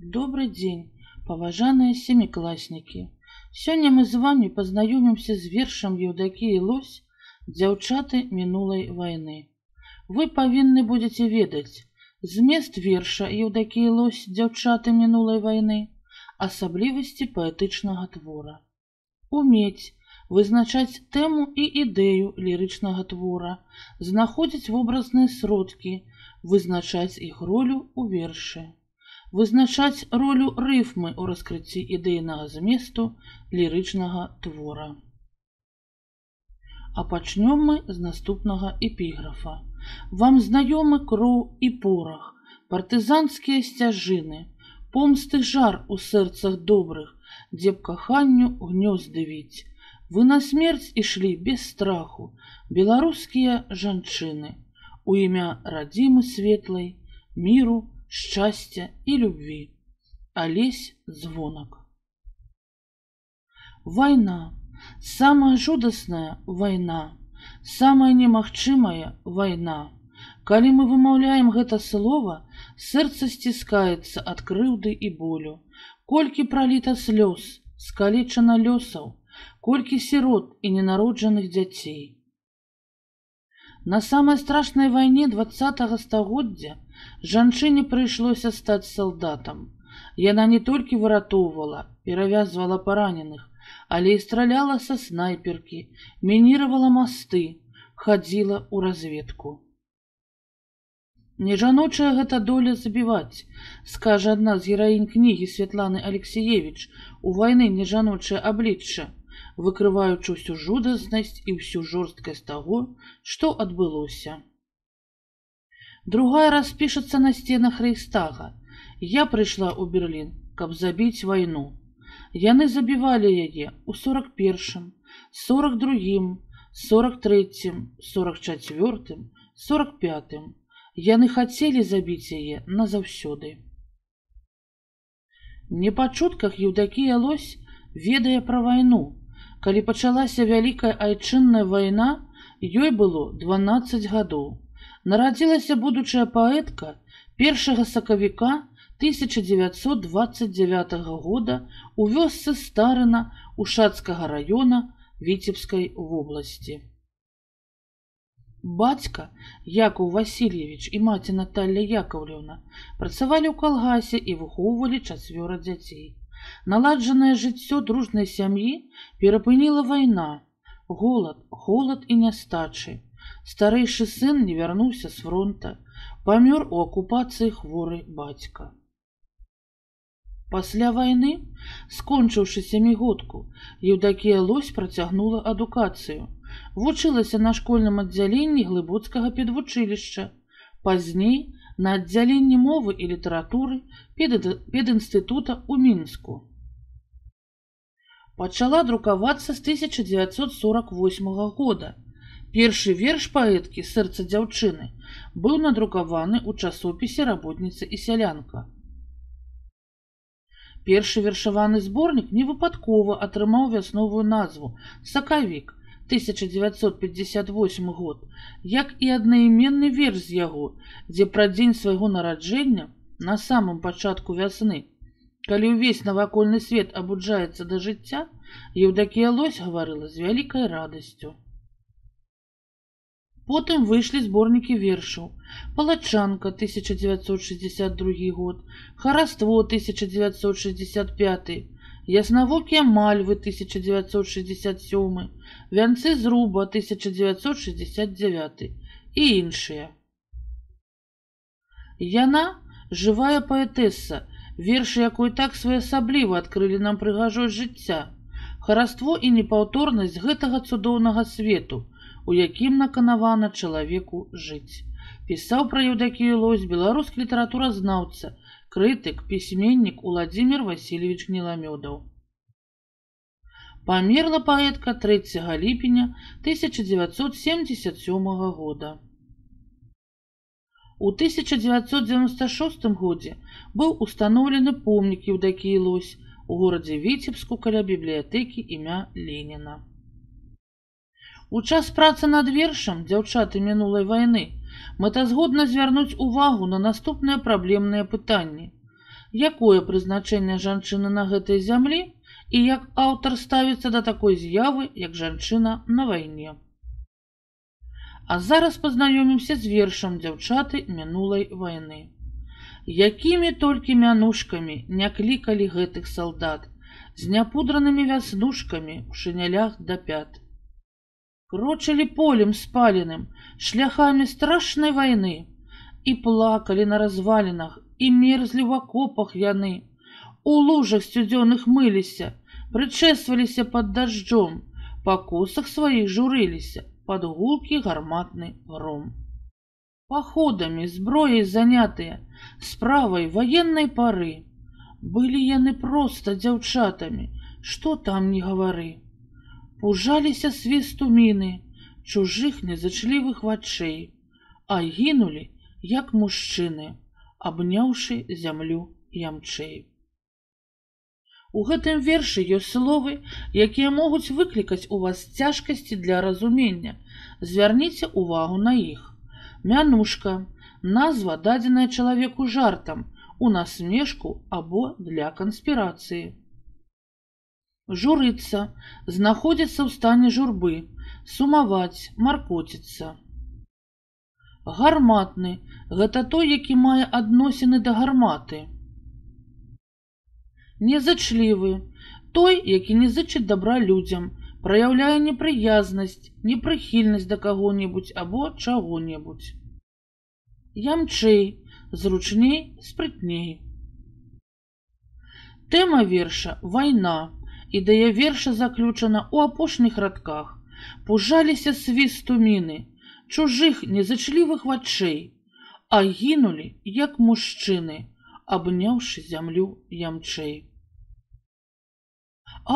Добрый день, поважаныя семиклассники. Сёння мы з вами познаёмімся з вершам Еўдакіі Лось «Дзяўчаты мінулай вайны». Вы павінны будзеце ведаць змест верша Еўдакіі Лось «Дзяўчаты мінулай вайны», асаблівасці паэтычнага твора. Умець вызначаць тэму і ідэю лірычнага твора, знаходзіць вобразныя сродкі, вызначаць іх ролю ў вершы. Вызначаць ролю рыфмы ў раскрыцці ідэйнага зместу лірычнага твора. А пачнём мы з наступнага эпіграфа. Вам знаёмы кроў і порах, партызанскія сцяжыны, помсты жар у сэрцах добрых, дзе б каханню гнёзды віць. Вы на смерць ішлі без страху, беларускія жанчыны, у імя радзімы светлай, міру, шчасця і любві. Алесь Звонак. Вайна, самая жудасная вайна, самая немагчымая вайна. Калі мы вымаўляем гэта слова, сэрца сціскаецца ад крыўды і болю. Колькі праліта слёз, скалечана лёсаў, колькі сірот і ненароджаных дзяцей. На самай страшнай вайне 20-го стагоддзя жанчыне прыйшлося стаць салдатам. Яна не толькі выратоўвала, перавязвала параненых, але і страляла са снайперкі, мініравала масты, хадзіла ў разведку. Не жаночая гэта доля забіваць, скажа адна з гераінь кнігі Святланы Алексіевіч «У вайны нежаночае аблічча», выкрываючы ўсю жудаснасць і ўсю жорсткасць таго, што адбылося. Другая распішацца на сценах Рэйхстага. Я прыйшла ў Берлін, каб забіць вайну. Яны забівалі яе ў 41-м, 42-м, 43-м, 44-м, 45-м. Яны хацелі забіць яе назаўсёды. Не па чутках Еўдакія Лось ведае пра вайну. Калі пачалася Вялікая айчынная вайна, ёй было 12 гадоў. Нарадзілася будучая паэтка 1 сакавіка 1929 года у вёсцы Старына Ушацкага раёна Віцебскай вобласці. Бацька Якаў Васильевич і маці Наталья Яковлевна працавалі ў калгасе і выхоўвалі 4 дзяцей. Наладжанае жыццё дружнай сям'і перапыніла вайна, голад, холад і нястачы. Старэйшы сын не вярнуўся з фронта, памёр у акупацыі хворы бацька. Пасля вайны, скончыўшы сямігодку, Еўдакія Лось працягнула адукацыю. Вучылася на школьным аддзяленні Глыбоцкага педвучылішча, пазней на аддзяленні мовы і літаратуры педінстытута ў Мінску. Пачала друкавацца з 1948 года. Першы верш паэткі «Сэрца дзяўчыны» быў надрукаваны ў часопісе «Работніца і сялянка». Першы вершаваны зборнік невыпадкова атрымаў вясновую назву «Сакавік» 1958 год, як і аднайменны верш з яго, дзе пра дзень свайго нараджэння на самым пачатку вясны, калі ўвесь навакольны свет абуджаецца да жыцця, Еўдакія Лось гаварыла з вялікай радасцю. Потым выйшлі зборнікі вершаў «Палачанка» 1962 год, «Хараство» 1965, «Яснавокія мальвы» 1967, «Вянцы зруба» 1969 і іншыя. Яна жывая паэтэса, вершы якой так своеасабліва адкрылі нам прыгажосць жыцця, хараство і непаўторнасць гэтага цудоўнага свету, у якім наканавана чалавеку жыць. Пісаў пра Еўдакію Лось беларускі літаратуразнаўца, крытык, пісьменнік Уладзімір Васильевич Гніламёдаў. Памерла паэтка 3 ліпеня 1977 года. У 1996 годзе быў устаноўлены помнік Еўдакіі Лось у горадзе Віцебску каля бібліятэкі імя Леніна. У час працы над вершам «Дзяўчаты мінулай вайны» мэтазгодна звярнуць увагу на наступныя праблемныя пытанні. якое прызначэнне жанчыны на гэтай зямлі і як аўтар ставіцца да такой з'явы, як жанчына на вайне. А зараз пазнаёмімся з вершам дзяўчаты мінулай вайны. Якімі толькі мянушкамі не клікалі гэтых салдат, з няпудранымі вяснушкамі ў шынялях да пят. Крочылі полем спаленым, шляхамі страшнай вайны, і плакалі на развалінах, і мерзлі ў акопах яны, у лужах сцюдзёных мыліся, прычэсваліся пад дажджом, па косах сваіх журыліся, пад гулкі гарматны гром. Паходамі, зброяй занятыя, справай ваеннай пары, былі яны проста дзяўчатамі, што там не гавары. Пужаліся свісту міны, чужых незачлівых вачэй, а гінулі, як мужчыны, абняўшы зямлю ямчэй. У гэтым вершы ёсць словы, якія могуць выклікаць у вас цяжкасці для разумення. Звярніце увагу на іх. Мянушка – назва, дадзеная чалавеку жартам, у насмешку або для канспірацыі. Журыцца – знаходзіцца ў стане журбы, сумаваць, маркоціцца. Гарматны – гэта той, які мае адносіны да гарматы. Незачлівы – той, які не зычыць дабра людзям, праяўляе непрыязнасць, непрыхільнасць да каго-небудзь або чаго-небудзь. Ямчэй – зручней, спрытней. Тэма верша – вайна. Ідэя верша заключана ў апошніх радках. Пужаліся свісту міны, чужых незачлівых вачэй, а гінулі, як мужчыны, абняўшы зямлю ямчэй.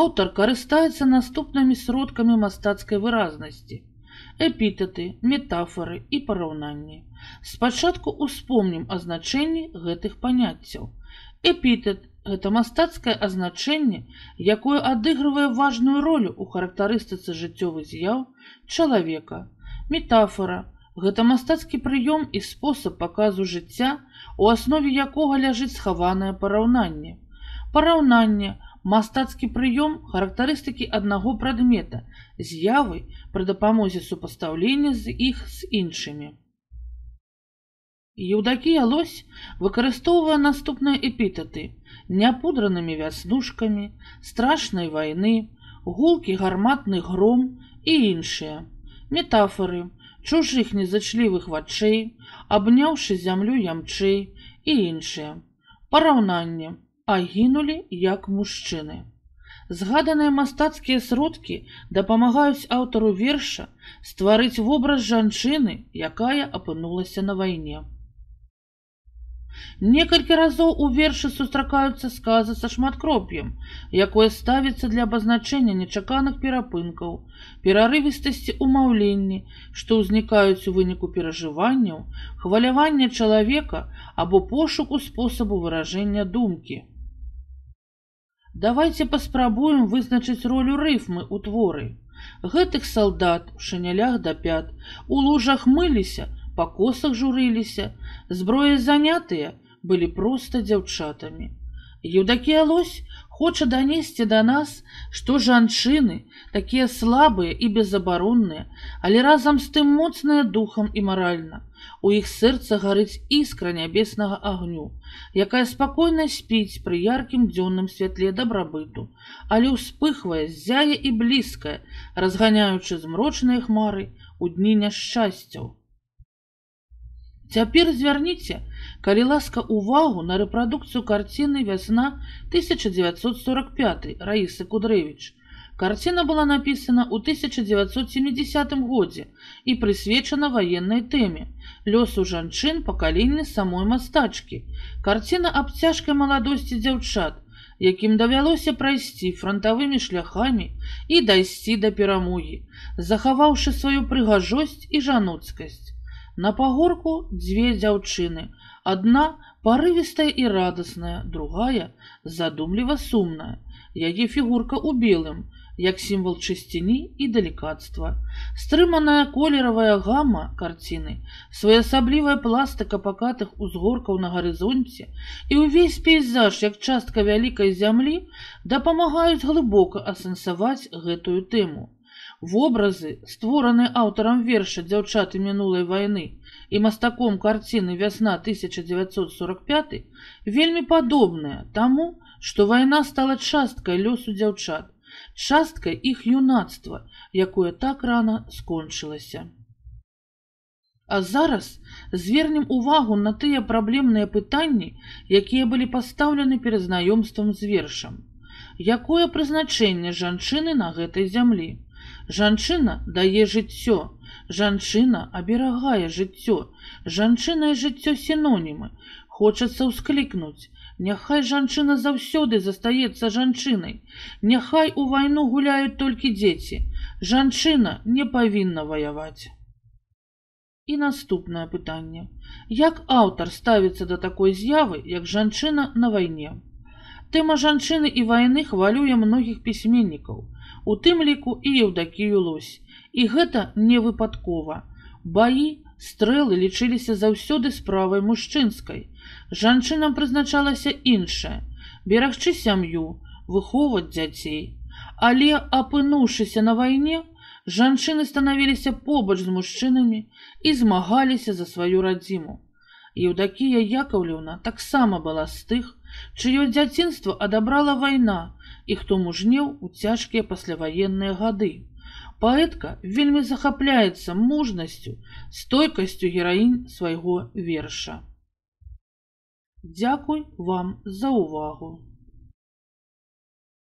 Аўтар карыстаецца наступнымі сродкамі мастацкай выразнасці: эпітэты, метафоры і параўнанні. Спачатку ўспомнім азначэнні гэтых паняццяў. Эпітэт – гэта мастацкае азначэнне, якое адыгрывае важную ролю ў характарыстыцы жыццёвых з'яў чалавека. Метафора – гэта мастацкі прыём і спосаб паказу жыцця, у аснове якога ляжыць схаванае параўнанне. Параўнанне – мастацкі прыём характарыстыкі аднаго прадмета, з'явы пры дапамозе супастаўлення з іх з іншымі. Еўдакія Лось выкарыстоўвае наступныя эпітэты: няпудранымі вяснушкамі, страшнай вайны, гулкі гарматны гром і іншыя. Метафоры: чужых незачлівых вачэй, абняўшы зямлю ямчэй і іншыя. Параўнанне: а гінулі, як мужчыны. Згаданыя мастацкія сродкі дапамагаюць аўтару верша стварыць вобраз жанчыны, якая апынулася на вайне. Некалькі разоў у вершы сустракаюцца сказы са шматкроп'ем, якое ставіцца для абазначэння нечаканых перапынкаў, перарывістасці ў маўленні, што ўзнікаюць у выніку перажыванняў, хвалявання чалавека або пошуку спосабу выражэння думкі. Давайце паспрабуем вызначыць ролю рыфмы ў творы. Гэтых салдат у шынялях да пят, у лужах мыліся, па косах журыліся, зброяй занятыя, былі проста дзяўчатамі. Еўдакія Лось хоча данесці да нас, што жанчыны такія слабыя і безабаронныя, але разам з тым моцныя духам і маральна. У іх сэрца гарыць іскра нябеснага агню, якая спакойна спіць пры яркім дзённым святле дабрабыту, але ўспыхвае, ззяе і блізкае, разганяючы змрочныя хмары ў дні няшчасцяў. Цяпер звярніце, калі ласка, увагу на рэпрадукцыю карціны «Вясна» 1945 Раісы Кудрэвіч. Карціна была напісана ў 1970 годзе і прысвечана ваеннай тэме лёсу жанчын пакалення самой мастачкі. Карціна аб цяжкай маладосці дзяўчат, якім давялося прайсці франтавымі шляхамі і дайсці да перамогі, захаваўшы сваю прыгажосць і жаноцкасць. На пагорку дзве дзяўчыны, адна парывістая і радасная, другая задумліва сумная. Яе фігурка ў белым, як сімвал чысціні і далікацтва. Стрыманая колеравая гама карціны, своеасаблівая пластыка пакатых узгоркаў на гарызонце і ўвесь пейзаж, як частка вялікай зямлі, дапамагаюць глыбока асэнсаваць гэтую тэму. Вобразы, створаныя аўтарам верша «Дзяўчаты мінулай вайны» і мастаком карціны «Вясна 1945» вельмі падобныя таму, што вайна стала часткай лёсу дзяўчат, часткай іх юнацтва, якое так рана скончылася. А зараз звернем увагу на тыя праблемныя пытанні, якія былі пастаўлены перад знаёмствам з вершам. Якое прызначэнне жанчыны на гэтай зямлі? Жанчына дае жыццё, жанчына аберагае жыццё, жанчына і жыццё сінонімы. Хочацца ўсклікнуць: няхай жанчына заўсёды застаецца жанчынай, няхай у вайну гуляюць толькі дзеці, жанчына не павінна ваяваць. І наступнае пытанне. Як аўтар ставіцца да такой з'явы, як жанчына на вайне? Тэма жанчыны і вайны хвалюе многіх пісьменнікаў, у тым ліку і Еўдакію Лось. І гэта не выпадкова. Баі, стрэлы лічыліся заўсёды справай мужчынскай. Жанчынам прызначалася іншае – берагчы сям'ю, выхоўваць дзяцей. Але, апынуўшыся на вайне, жанчыны станавіліся побач з мужчынамі і змагаліся за сваю радзіму. Еўдакія Яковлеўна таксама была з тых, чыё дзяцінства адабрала вайна і хто мужнеў у цяжкія пасляваенныя гады. Паэтка вельмі захапляецца мужнасцю, стойкасцю гераінь свайго верша. Дзякуй вам за увагу.